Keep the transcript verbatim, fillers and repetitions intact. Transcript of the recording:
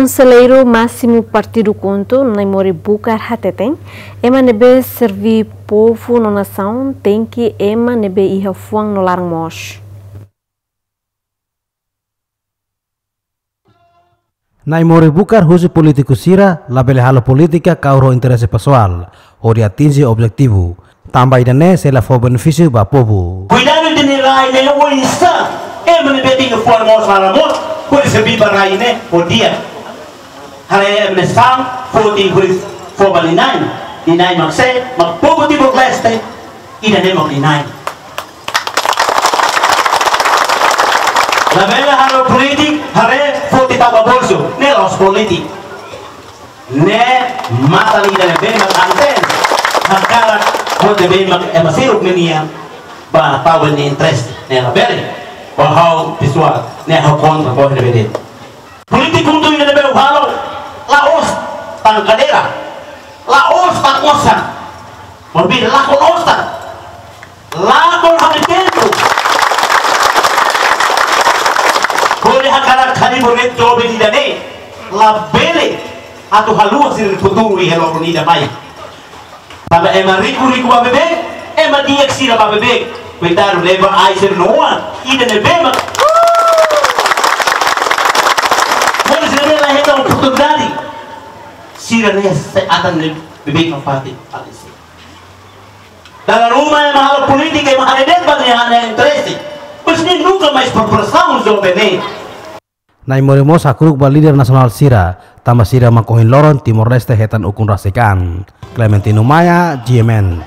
Konselleiru Másimu Partidu KHUNTO, Naimori Bucar hateten, ema ne'ebé serví povu no nasaun tenke ema ne'ebé iha fuan no laran mós. Naimori Bucar husu polítiku sira labele halo polítika kaur ho interese pesoál hodi atinje objetivu. Tanba ida-ne'e sei la fó benefísiu ba povu. Kuidadu ita-nia rai ne'e oinsá, ema ne'ebé iha fuan mós laran mós, hodi serví ba rai ne'e ho di'ak. Haree ema ne'e sá, foti hodi fó ba nia na'in, nia na'in mak sé, mak povu Timor-Leste, ida-ne'e mak nia na'in. Labele halo polítika, haree foti tau ba bolsu, ne'e la'ós polítika. Ne'e matan ida ne'ebé mak anten, hakarak hodi be mak ema sira-nia ba tau ba nia interese, ne'e labele. Ba ha'u pesoál, ne'e ha'u kontra ba ida ne'ebé de'it. Polítiku tuir ne'ebé halo, la'ós tan kadeira, la'ós tan osan, maibé lakon osan, lakon ha'u-nia tempu. Hodi hakarak kali bonet joven ida-ne'e, labele atu haluha sira-nia futuru iha loron ida mai. Tanba ema riku-riku ba beibeik, ema di'ak sira ba beibeik. Kuidadu leba ai sira-nia oan, ida ne'ebé mak. Mós sira ne'e la hetan oportunidade. Sira ne'e sei atan ne'e beibeik no parte alisi. Dala ruma ema halo polítika, ema haree de'it ba nia, nia interese. Mas ne'e nunka mais preparasaun joven ne'e. Naimori mós hakru'uk ba líder nasionál sira, tanba sira mak ohin loron Timor-Leste hetan ukun rasik an. Clementino Maia, G M N.